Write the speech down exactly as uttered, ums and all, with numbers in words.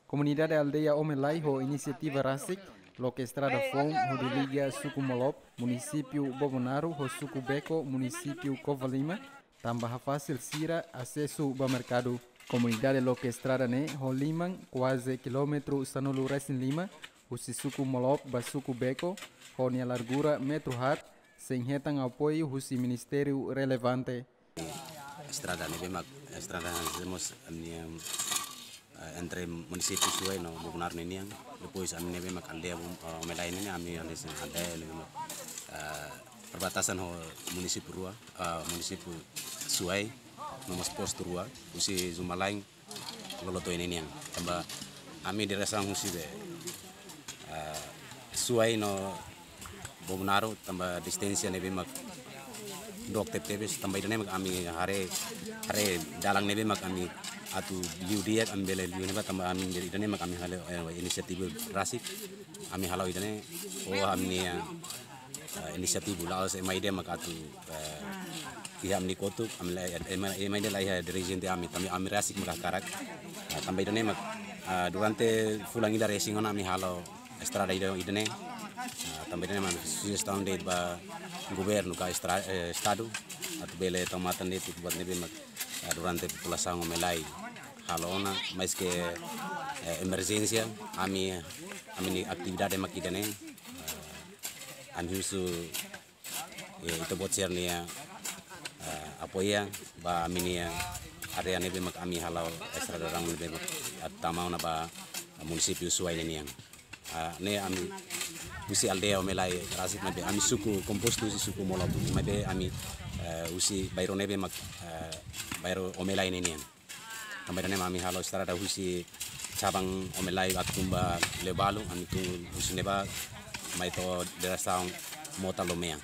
Komunidade aldeia Omelai ho inisiativa rasik loke estrada foun hodi liga suku Molop, munisípiu Bobonaro ho suku Beko, munisípiu Covalima, tanba hafasil sira asesu ba merkadu. Komunidade loke estrada ne'e ho liman kuaze kilómetru sanulu-resin-lima, husi suku Molop ba suku Beko, ho nia largura metru haat, sein hetan apoiu husi ministériu relevante. Estrada ne'ebé mak, estrada hemos, ami, em, eh, entre munisípiu Suai no Bobonaro ninian. Depois ami ne'ebé mak aldeia, eh, Omelai ne'e, ami aldeia, aldeia ne'ebé mak, eh, perbatasan ho munisípiu rua, eh, munisípiu Suai, no mós postu rua, husi Zumalain, loloto ini nian. Tanba ami diresaun husi be, eh, Suai no Bobonaro, tanba distánsia ne'ebé mak dook tebetebes, tanba ida-ne'e mak ami haree, haree dalan ne'ebé mak ami atu liu di'ak, ami bele liu ne'ebá, tanba ami ida-ne'e mak ami halo, eh, inisiativa rasik, ami halo ida-ne'e, oh, ami-nia, eh, inisiativa la'ós ema ida mak atu, eh, iha ami-nia kotuk, ami la, ema, ema ida la iha dirijente ami, tanba ami rasik mak hakarak. Ah, tanba ida-ne'e mak, ah, durante fulan ida resin ona ami halo estrada ida, ida-ne'e. Ah, tanba ida-ne'e mak sujestaun de'it ba governu ka estra-, eh, estadu, atu bele tau matan de'it buat ne'ebé mak, ah, durante populasaun Omelai halo ona, maske, eh, emerjénsia, ami, ami-nia atividade mak ida-ne'e. Ah, ami husu, eh, ita-boot sira-nia, eh, apoiu ba ami-nia área ne'ebé mak ami halo estrada rua ne'ebé mak, eh, tama ona ba munisípiu Suai ninian. Ah, ne'e ami husi aldeia Omelai rasik maibé ami suku kompostu husi suku Molop. Maibé ami, eh, husi bairru ne'ebé mak, eh, bairru Omelai ninian. Tanba ida-ne'e mak ami halo estrada husi cabang Omelai atu tun ba Lebalu, ami tun husi ne'ebá mai to'o diresaun Mota Lomea.